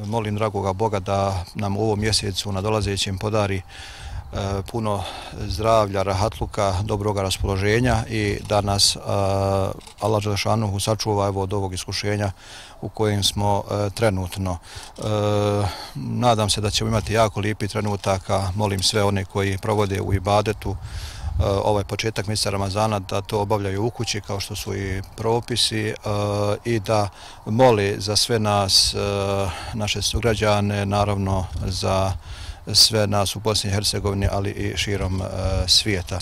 molim dragoga Boga da nam u ovom mjesecu nadolazećem podari puno zdravlja, rahatluka, dobroga raspoloženja i da nas Allah dželešanuhu sačuva od ovog iskušenja u kojem smo trenutno. Nadam se da ćemo imati jako lijepi trenutaka. Molim sve one koji provode u ibadetu ovaj početak mjeseca Ramazana da to obavljaju u kući kao što su i propisi i da mole za sve nas, naše sugrađane, naravno za sve nas u Bosni i Hercegovini, ali i širom svijeta.